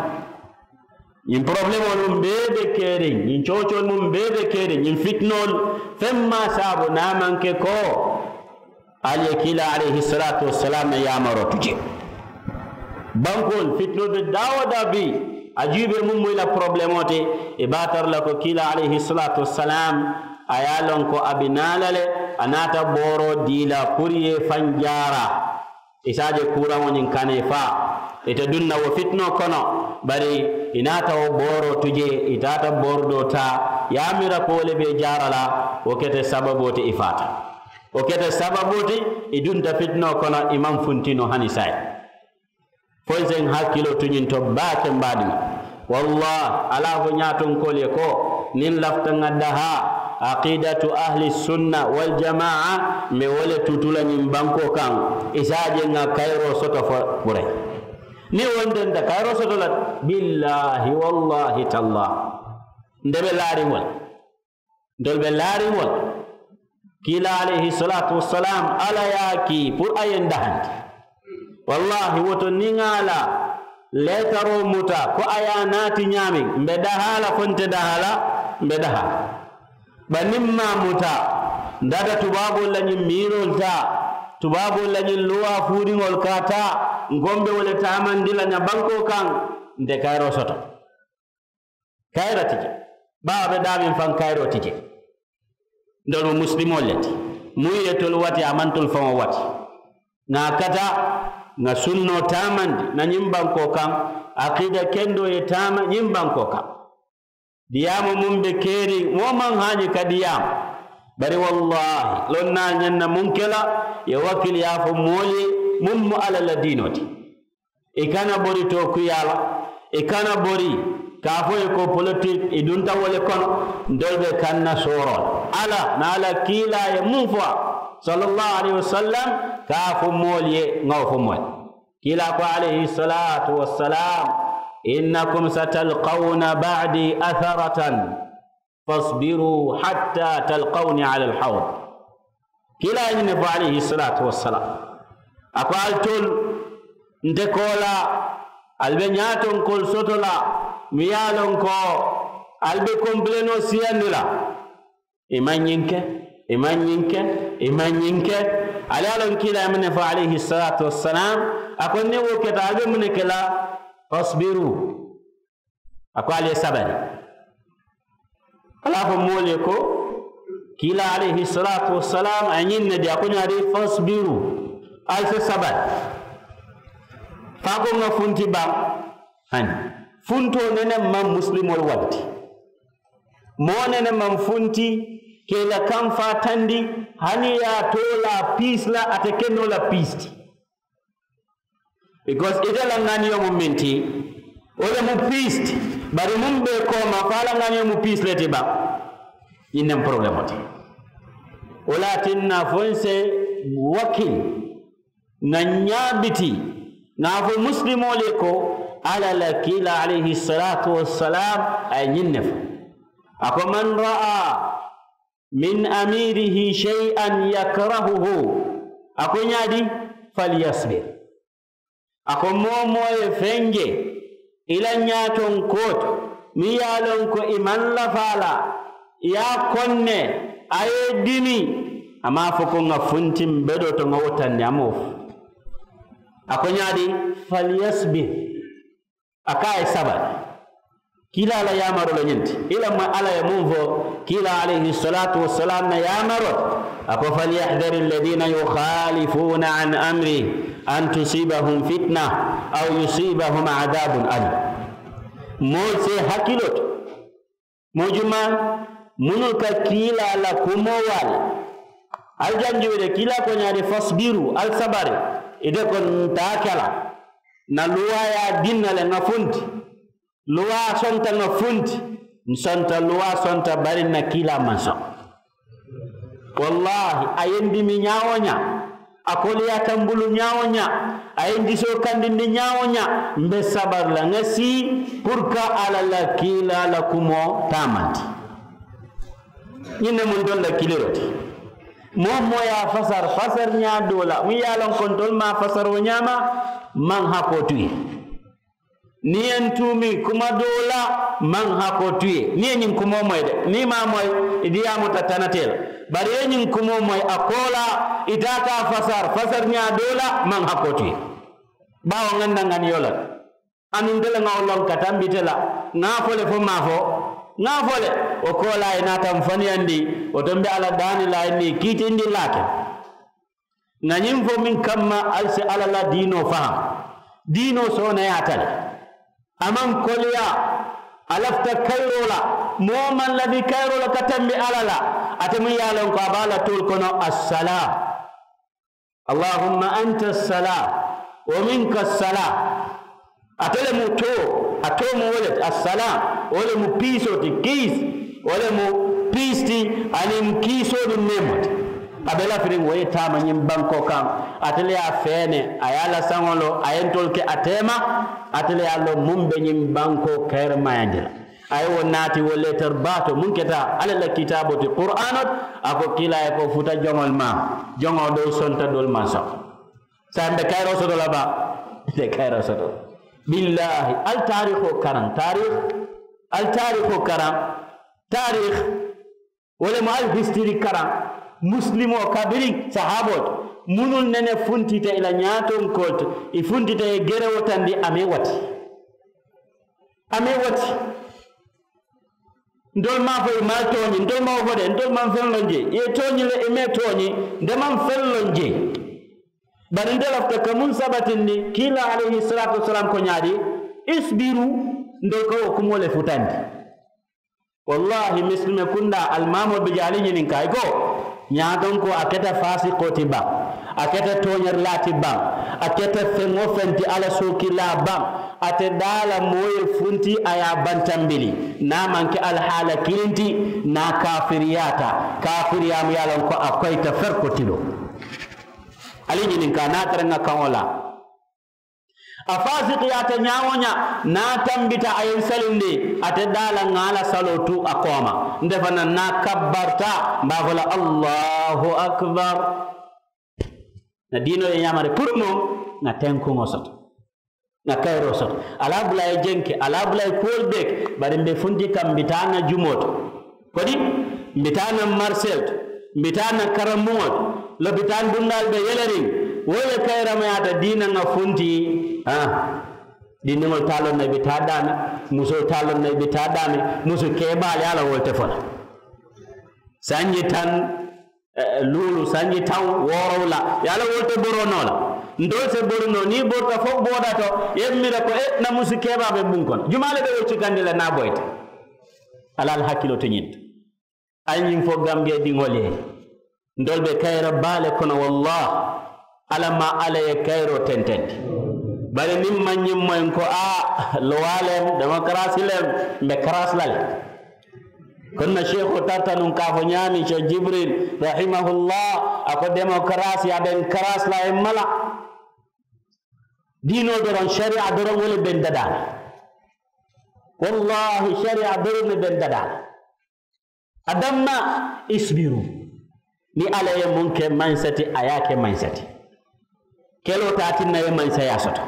Ñiŋ porobulemoolu muŋ bee be keeriŋ ñiŋ coocoolu muŋ bee be keeriŋ ñiŋ fitinoolu feŋ maa saabu niŋ a maŋ ke ko ali ye kiila alayhi salaatu wasalaam na yaamaroo tu jee. Bankoolu fitinoolu be daa-wo-daa bii a juubee muŋ mu i la porobulemoo ti. I be a tara la ko kiila alayhi salaatu wasalaam a ye a loŋ ko a bi naa la le. A naata booroo dii la puru i ye i faŋ jaara. I si a je kuuraŋo ñiŋ kana i faa. Ite duŋ na wo fitinoo kono bari i naata wo booroo tu jee i taata boori doo taa. Ye a mira ko wo le be i jaara la. Wo kete sababoo ti i faata. Wo kete sababoo ti i dunta fitinoo kono i maŋ funti noo hani saayiŋ. Fo n si n hakkiloo tu ñiŋ to baake mbaadiŋo. Wallaahi ali a fo ñaatonkoolu ye ko niŋ n lafita ŋa dahaa aqiidatu ahli sunna wal jamaa mbe wo le tutu la ñiŋ bankoo kaŋ. I si a je ŋa kayiroo soto fo bure. Niŋ wo nte nte kayiroo soto la billaahi wallaahi tallaahi. Nte be laariŋ wo le ntolu be laariŋ wo le. Kiila alayhi salaatu wasalaam alla ye a kii puru a ye n dahandi. Wallaahi wo to niŋ a la leetaroo muta ko a ye a naati ñaameŋ mbe dahaa la fo nte dahaa la. Mbe dahaa la bari niŋ maŋ a muta. N taata tubaaboolu la ñiŋ miiroolu taa tubaaboolu la ñiŋ luwaa fuuriŋolu ka a taa. N ko mbe wo le taamandi la ña bankoo kaŋ. Nte kayiroo soto kayira ti je. Baa a be daameŋ faŋ kayiroo ti je. Ntolu mu musilimoolu le ti. Muŋ ye tolu wati a maŋ tolu faŋo wati. Ŋa a kata ŋa sunnoo taamandi na ñiŋ bankoo kaŋ. Akiida kendoo ye taama ñiŋ bankoo kaŋ. Diyaamu muŋ be keeriŋ wo maŋ haañi ka diyaama. Bari wallaahi loŋ naa ñaŋ na muŋ ke la ye wakkili ye a fo moolu ye muŋ mu alla la diinoo ti. I kana bori tookuyaa la, i kana bori ka a fo i ko politik i dunta wo le kono. Ntolu be kanna sooroo la ala niŋ a la kiilaa ye muŋ fo a, sallallahu alayhi wasallam, ka a fo moolu ye ŋa wo fo moolu ye. Kiilaa ko alayhi salatu wassalam, innakum satalkawna ba'di atharatan, fasbiru hatta talkawni ala alhawd. Kiilaa ye ñiŋ ne fo alayhi salatu wassalam, a ko ali toolu nte koolaa ali be ñaatonkoolu soto la, mi ye a loŋ ko ali be konpilenoo siyandi la. I maŋ ñiŋ ke, i maŋ ñiŋ ke, i maŋ ñiŋ ke. Ali ye a loŋ kiilaa ye muŋ ne fo alayhi salatu wassalam, a ko niŋ wo keta ali be muŋ ne ke la? Fasbiru. A ko ali ye sabari. Ala fo moolu ye ko kiilaa alayhi salatu wassalam a ye ñiŋ ne di a ko ñaadi? Fasbiru. Ali se sabari. Faa ko ŋa funti baŋ. Hani funtoo nene maŋ muslimoolu wala ti. Moo nene maŋ funti ke i la kaŋ faatandi. Hani ye a too la piisi la ate ke noo la piisi ti. Because ite la ŋaniyo mu minti wo le mu piisi ti. Bari muŋ be i kooma fo a la ŋaniyo mu piisi le ti baŋ. Ñiŋ ne mu porobulemoo ti. Wo le ye a tinna fo n se wakil ŋa ñaa biti ŋa a fo muslimoolu ye ko alla la kiilaa alayhi salatu wassalam a ye ñiŋ ne fo. A ko man ra'a min amirihi shay'an yakrahuhu, a ko ñaadi? Falyasbir. A ko moo moo ye feŋ je i la ñaatonkoo to meŋ ye a loŋ ko i maŋ lafa a la i ye a konne a ye i dimi. A maŋ a fo ko ŋa funti mbe doo to ŋa wo tanni a maŋ wo fo. A ko ñaadi? Falyasbir. A ko a ye sabari. Kiilaa la yaamaroo le ñiŋ ti i la moyi alla ye muŋ fo kiilaa alayhi salatu wassalam na yaamaroo ti. A ko falyahdari alladina yukhalifuuna an amri an tusibahum fitna aw yusibahum adabun alim. Moolu si i hakiloo to moo jumaa munnu ka kiilaa la kumoo waali. Ali janjuwe de kiilaa ko ñaadi? Fasbiru ali sabari. Ite ko ntaa ke la na luwaa ye a dinna le ŋa funti. Luwaa sonta ŋa funti. N sonta luwaa sonta bari n na kiilaa maŋ soŋ. Wallaahi a ye n dimi ñaa-wo-ñaa a koliyaata n bulu ñaa-wo-ñaa a ye n disoo kandindi ñaa-wo-ñaa. Mbe sabari la ŋa sii puru ka alla la kiilaa la kumoo taamandi. Ñiŋ ne mu ntolu la kiliroo ti. Moo moo ye a fasari fasari ñaa doo la muŋ ye a loŋ ko ntolu maŋ a fasari wo ñaama. Maŋ hakoo tu ye. Niŋ ye n tuumi kuma doo la maŋ hakoo tu ye niŋ ye ñiŋ kumoo moyi de niŋ i maŋ a moyi i diyaamuta tanatee la. Bari i ye ñiŋ kumoo moyi a koolaa i taata a fasari fasari ñaa doo la maŋ hakoo tu ye. Baawo ŋa n na ŋaniyo la le. Anuŋ nte le ŋa wo loŋ ka tambi ite la ŋa a fo le fo maŋ a fo. Ŋa a fo le wo koolaa i naata m faniyandi. Wo to m be alla daani la a ye n nii kiitindi laake. Ŋa ñiŋ fo meŋ kamma ali si alla la diinoo fahamu. Diinoo sooneyaata le. A maŋ koleyaa. A lafita kayiroo la. Moo maŋ lafi kayiroo la ka tambi alla la. Ate muŋ ye a loŋ ko a be a la toolu kono assalaa. Allahumma anta assalaa wa minka assalaa. Ate le mu too a too mu wo le ti assalaa. Wo le mu piisoo ti kiisi. Wo le mu piisi ti aniŋ kiisoolu neemoo ti. A be lafiriŋ wo ye taama ñiŋ bankoo kaŋ. Ate le ye a feene a ye a la saŋo lo a ye ntolu ke a teema. Ate le ye a loŋ muŋ be ñiŋ bankoo kayirimayandi la. A ye wo naati wo leetar baato muŋ keta alla la kitaaboo ti qur'aanoo ti. A ko kiilaa ye ko futa joŋolu ma joŋo doolu sonta doolu maŋ soŋ. Saayiŋ be kayiroo soto la baa? Be kayiroo soto. Billaahi ali taariikoo karaŋ taariik. Ali taariikoo karaŋ taariik. Wo le mu ali hisitiri karaŋ musilimoo kabiriŋ sahaaboo ti. Munnu nene funtita i la ñaatonkoolu ti i funtita ye gerewo tandi a mee wati. A mee wati. Ntolu maŋ a fo i maŋ a tooñi ntolu maŋ wo fo de ntolu maŋ feŋ loŋ jee i ye tooñi le i mee tooñi. Nte maŋ feŋ loŋ jee. Bari nte lafita ka muŋ sabatindi kiilaa alayhi salaatu wasalaam ko ñaadi? Isbiru. Ntolu ka wo kumoo le futandi. Wallaahi misilime kundaa alimaamoo bi je ali ñininkaa i ko ñaatonkoo a keta faasikoo ti baŋ? A keta tooñarilaa ti baŋ. A keta feŋ-wo-feŋ ti alla sookilaa baŋ. Ate daala moo ye funti a ye a bantambili. Niŋ a maŋ ke alihaala kiliŋ ti niŋ a kaafiriyaata. Kaafiriyaa mu ye a loŋ ko a koyita feri ko tiloo. Ali ñininkaa niŋ a tara ŋa kaŋo la. A faasikiyaata ñaa-wo-ñaa niŋ a tambita a ye n salindi. Ate daala ŋa a la saloo tu a kooma. Nte fanaa niŋ a kabbarita mbe a fo la allahu akbar. Ŋa diinoo ye ñaama de puru nuŋ ŋa tenkuŋo soto. Ŋa kayiroo soto. Ali a bula a ye jenke ali a bula a ye kuwolu bee ke. Bari mbe funti kaŋ mbe taa ŋa jumoo to. Kodi mbe taa ŋa marisee to. Mbe taa ŋa karambuŋo to. Lopitaani dundaalu be yeleriŋ. Wo le kayiramayaata diina ŋa funti. Haa. Dindiŋolu taa loŋ na i be taa daami. Musoo taa loŋ na i be taa daami. Musu keebaalu ye a la wolu te fo la. Sanji taŋ luulu sanji taŋ woorowula ye a la wolu te boroo noo la. Ntolu se bori noo niŋ i borita fo booda to ye miira ko e na musu keebaa be buŋ kono jumaa le be wo cikandi la niŋ a boyita. Alla ali hakkiloo te ñiŋ to. Ali ñiŋ fo gambiya diŋolu ye ntolu be kayira baa le kono wallaahi. Alla maŋ alla ye kayiroo tentendi. Bari niŋ maŋ ñiŋ moyi n ko a lowaa le m demokarasi le m mbe karasi la le. Kono na seekoo tarata nuŋ ka a fo ñaameŋ seeku jibril rahimahullah a ko demokarasi a be n karasi la a ye mala. Diinoo doroŋ sariya doroŋ wo le be n dadaa la. Wallaahi sariya doroŋ le be n dadaa la. A damma isbiru. Niŋ alla ye muŋ ke mansa ti a ye a ke mansa ti. Keloo taa tinna ye mansayaa soto.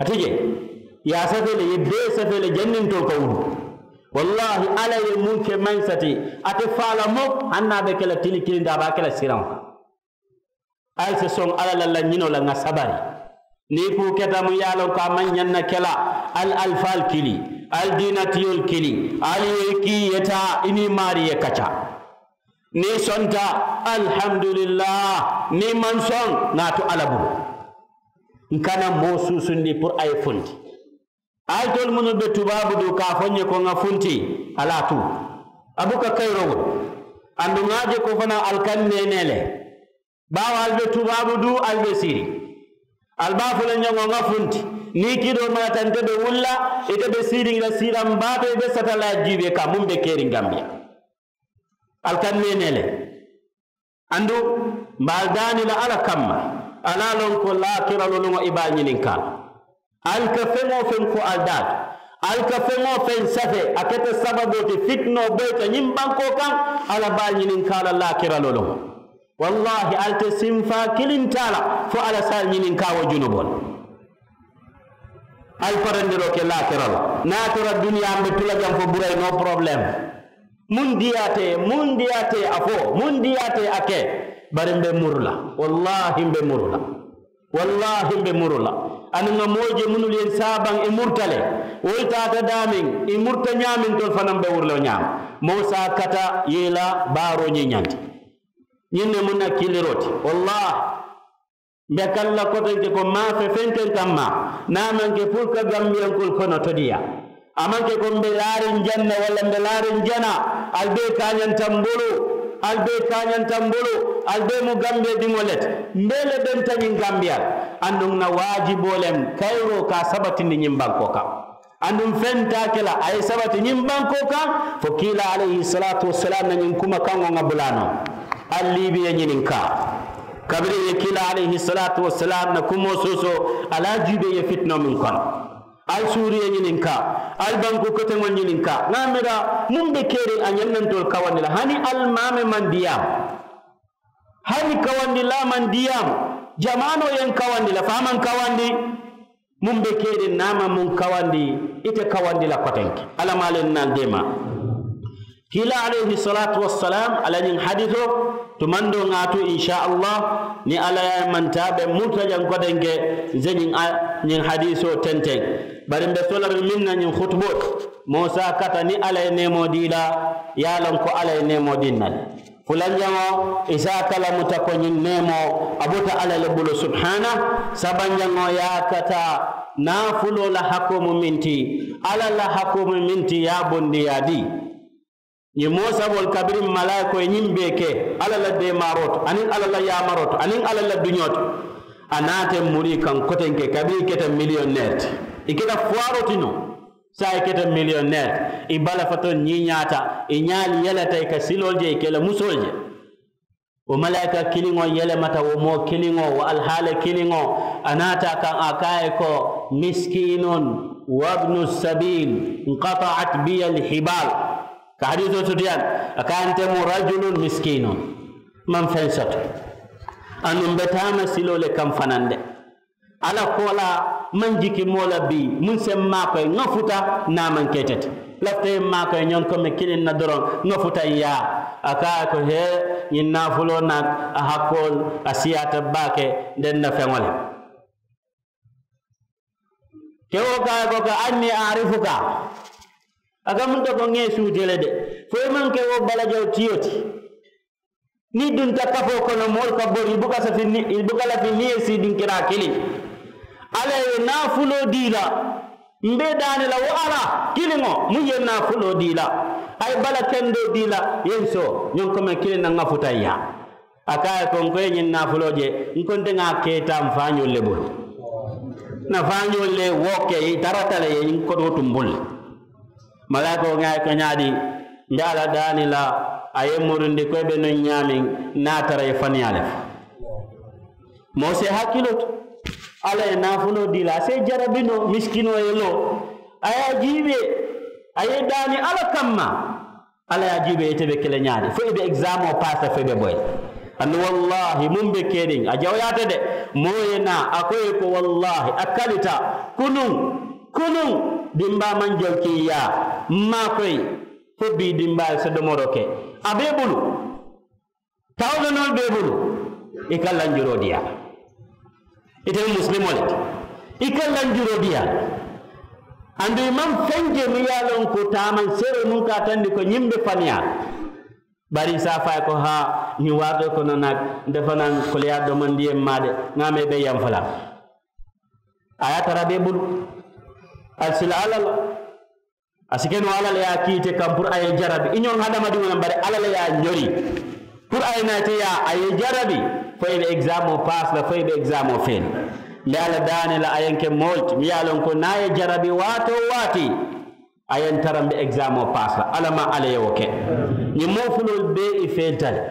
A ti je i ye a safee le i ye bee safee le janniŋ ntolu ka wulu. Wallaahi alla ye muŋ ke mansa ti. A te faa la muk hani niŋ a be ke la tili kiliŋ ti a be a ke la siraŋo kaŋ. Ali si soŋ alla la lañinoo la ŋa sabari. Niŋ i kuu keta muŋ ye a loŋ ko a maŋ ñaŋ na ke la ali alifaalu kili ali diinatiyolu kili ali ye kii i ye taa i niŋ i maarii ye kaca. Niŋ i sonta, alihamudulilaahi. Niŋ i maŋ soŋ ŋa a tu alla bulu. N kana moo suusundi puru a ye funti. Ali tolu mennu be tubaabu duu ka a fo n ye ko ŋa funti. Ali a tuu a buka kayiroo wulu. Aduŋ ŋa a je ko fanaa ali ka n neenee le. Baawo ali be tubaabu duu ali be siiriŋ. Ali be a fo la n ye ŋo ŋa funti. Niŋ i kidoo malata nte be wuli la ite be siiriŋ i la siiraŋ baa to i be sata la ye jiibee kaŋ muŋ be keriŋ gambiya. Ali ka n neenee le. Aduŋ mbe ali daani la alla kamma. Ali a loŋ ko laakira loluŋo i be a ñininkaa la. Ali ka feŋ-wo-feŋ fo ali daa to. Ali ka feŋ-wo-feŋ safee a keta sababoo ti fitinoo boyita ñiŋ bankoo kaŋ. Alla be a ñininkaa la laakira loluŋo. Wallaahi ali te sinfaa kiliŋ taa la fo alla si ali ñininkaa wo junuboo la. Ali parandiroo ke laakira la niŋ a tara duniyaa mbe tu la jaŋ fo burayi noo porobuleemu. Muŋ diyaata i ye muŋ diyaata i ye a fo muŋ diyaata i ye a ke. Bari mbe muru la. Wallaahi mbe muru la. Wallaahi mbe muru la. Aduŋ ŋa moo je mennu ye n saabaŋ i murta le. Wolu taata daameŋ i murta ñaameŋ ntolu fanaa mbe wuru la wo ñaama. Moo si a kata ye i la baaroo ñiiñandi. Ñiŋ ne mu n na kiiliroo ti. Wallaahi. Mbe ka n la kotenke ko m̀ maŋ a fe fenteŋ kamma. Niŋ a maŋ ke puru ka gambiyankoolu kono todiyaa. A maŋ ke ko m̀ be laariŋ jaŋ ne walla m̀ be laariŋ jana. Ali bee kaañanta m bulu. Ali bee kaañanta m bulu. Ali bee mu gambiya diŋo le ti. M̀ bee le benta ñiŋ gambiya la. Aduŋ ǹ na waajiboo le m kayiroo ka a sabatindi ñiŋ bankoo kaŋ. Aduŋ feŋ te a ke la a ye sabati ñiŋ bankoo kaŋ. Fo kiilaa alayhi salaatu wassalaamu na ñiŋ kuma kaŋo ŋa bula noo. Ali liibi ye ñininkaa. Kabiriŋ ye kiilaa alayhi salaatu wassalaamu na kumoo soosoo ali a juubee ye fitinoo meŋ kono. Ali suuri ye ñininkaa. Ali bankuu koteŋolu ñininkaa ŋa a mira muŋ be keeriŋ a ñaŋ na ntolu kawandi la hani ali maame maŋ diyaama. Hani kawandilaa maŋ diyaama. Jamaanoo ye n kawandi le fo a maŋ kawandi. Muŋ be keeriŋ niŋ a maŋ muŋ kawandi. Ite kawandi la kotenke. Alla maŋ a le n na ali deemaa. Kiilaa alayhi salaatu wassalaamu a la ñiŋ hadiisoo tumandoo ŋa a tu insa allah. Niŋ alla ye a ye mantaa be murta jaŋ kotenke. N se ñiŋ a ñiŋ hadiisoo tenteŋ. Bari m̀ be soolariŋ meŋ na ñiŋ hutuboo ti. Moo si a kata niŋ alla ye neemoo dii la. Ye a loŋ ko alla ye neemoo dii n na le. Fulanjaŋo, isaaka lamuta ko ñiŋ neemoo a bota alla le bulu subhaana. Sabanjaŋo ye a kata naafuloo la hakoo mu meŋ ti. Alla la hakoo mu meŋ ti ye a bondi ye a dii. Ñiŋ moo saboolu kabiriŋ malaayikoo ye ñiŋ bee ke alla la deemaaroo to aniŋ alla la yaamaroo to aniŋ alla la duñoo to, a naata ì muri kaŋ kotenke kabiriŋ ì keta miliyonneeri ti, ì keta fuwaaroo ti noo. Saayiŋ ì keta miliyonneeri ti, ì bala fatoo ñiiñaata, ì ñaalu yeleta ì ka siloolu je ì ka ì la musoolu je. Wo malaayika kiliŋo yelemata wo moo kiliŋo wo alihaali kiliŋo. A naata a kaŋ a ko a ye ko, miskiinun wabnu sabiil, nkataat biya alhibaal. Ka hadiisoo sutiyandi, a ko a ye nte mu rajulun miskiinun, maŋ feŋ soto. Aduŋ mbe taama siloo le kaŋ fanande. Alla koolaa maŋ jiki moo la bii muŋ se m maakoyi ŋa futa. Niŋ a maŋ ke ite ti lafita ye m maakoyi ñoŋ komi kiliŋ na doroŋ ŋa futa n yaa. A ko a ye ko hee, ñiŋ naafuloo naŋ a hakkoolu a siyaata baake. Ndeŋ na feŋo le kewo ko a ye ko ka anni aarifuka. A ka munta ko ŋa ì suutee le de fo i maŋ ke wo balajaw tiyo ti. Niŋ i dunta kafoo kono moolu ka bori i buka lafi niŋ i ye sii dinkiraa kiliŋ. Alla ye naafuloo dii la. Mbe daani la wo alla kiliŋo muŋ ye naafuloo dii la. A ye bala kendoo dii la, i ye n soo ñoŋ komi kiliŋ na ŋa futa n yaa. A ko a ye ko n ko i ye ñiŋ naafuloo je, n ko nte ŋa a keeta n faañoolu le bulu. N na faañoolu le wo ke i tarata le ye ñiŋ kotoo tumbulu. Malaayikoo ŋa a ye ko ñaadi? Nte alla daani la a ye murundi ko i be nuŋ ñaameŋ. Niŋ a tara i ye faniyaa le fo moo si i hakkiloo to. Alla ye naafuloo dii la a si i jarabi noo misikinoo ye loo. A ye a jiibee a ye i daani alla kamma. Alla ye a jiibee ite be ke le ñaadi fo i be egizaamoo paasi la fo i be boyi la. Aduŋ wallaahi muŋ be keriŋ a jawuyaata de. Moo ye naa a ko i ye ko wallaahi a kalita kunuŋ. Kunuŋ dimbaa maŋ jolki n yaa. M maakoyi fo bii dimbaa ye se domoroo ke a be i bulu. Tawulonoolu be i bulu. I ka lanjuroo diyaa. Ite mu musilimoo le ti. I ka lanjuroo diyaa. Aduŋ i maŋ feŋ je muŋ ye a loŋ ko taamanseeroo muŋ ka a tandi ko ñiŋ be faniyaa la. Bari i si a fo a ye ko haa ñiŋ waatoo kono nak nte fanaa koleyaa domondi ye m maa de. Ŋa a mee be yanfa la. A ye a tara be i bulu. Ali si la alla la. A si ke noo alla le ye a kii ite kaŋ puru a ye i jarabi i ñoŋ hadamadiŋo le bari alla le ye a ñori. Puru a ye naa ite yaa a ye i jarabi fo i be egizaamoo paasi la fo i be egizaamoo fee la. Mbe alla daani la a ye n ke moolu ti muŋ ye a loŋ ko niŋ a ye i jarabi waati-wo-waati a ye n tara mbe egizaamoo paasi la. Alla maŋ alla ye wo ke. Ñiŋ moo fuloolu bee i feenta le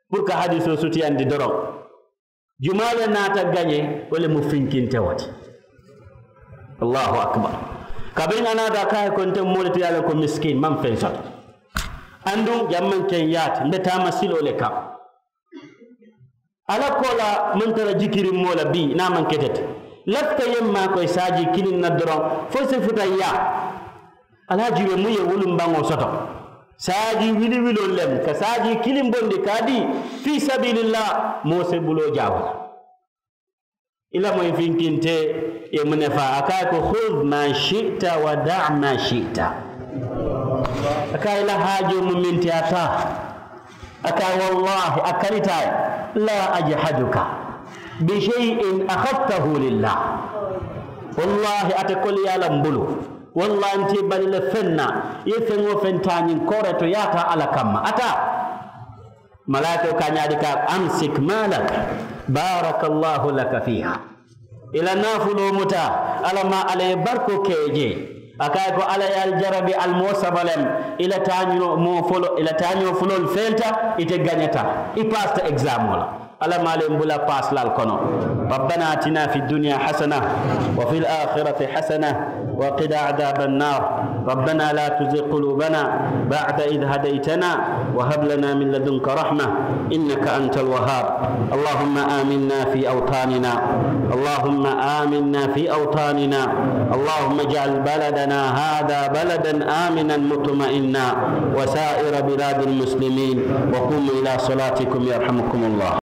puru ka hadiisoo sutiyandi doroŋ. Jumaa le naata gañe wo le mu finkinte wo ti. Allahu akbar. Kabiriŋ a naata a ko a ye ko nte mu moo le ti ye a loŋ ko misikiini maŋ feŋ soto. Aduŋ jaŋ maŋ ke n yaa ti mbe taama siloo le kaŋ. Alla koolaa maŋ tara jikiriŋ moo la bii niŋ a maŋ ke ite ti. Lafita ye m maakoyi saajii kiliŋ na doroŋ fo i si futa n yaa. Alhaji be muŋ ye wulumbaŋo soto saajii wili wiloolu le mu ka saajii kiliŋ bondi ka a dii fii sabiilillah. Moo si buloo jaawo la. I la moyi finkinte ye muŋ ne faa a ka a ye ko huz ma shi'ta wa da' ma shi'ta. A ka a ye i la haajoo mu meŋ ti a taa. A ka wallaahi a kalita a ye. Laa ajahaduka bi shay'in akhadtahu lillah. Wallaahi ate koliyaa la m bulu. Wallaahi nte i bali le feŋ na. I ye feŋ-wo-feŋ taa ñiŋ kooree to i ye a taa alla kamma a taa. Malaayikoo ka a ñaadi ka a ko amsik maalak. Baaraka allaahu laka fiiha. I la naafuloo muta. Alla maŋ alla ye barikoo ke i jee. A ka a ye ko alla ye ali jarabi ali moo saba le mu. I la taañoo moo folo i la taañoo fuloolu feelita. Ite gañata i paasita egizaamoo la. Alla maŋ alla ye m bula paasi la ali kono. Rabbana atina fi duniya hasana wa fi l aakhirati hasana wa qina adaba annar. Rabbana la tuzig qulubana ba'da id hadaytana wa hab lana min ladunka rahma innaka anta alwahhab. Allahumma aminna fi awtanina. Allahumma aminna fi awtanina. Allahumma ij'al baladana hadha baladan aminan mutma'inna wa sa'ira biladi almuslimin. Wa qumu ila salatikum yarhamukum allah.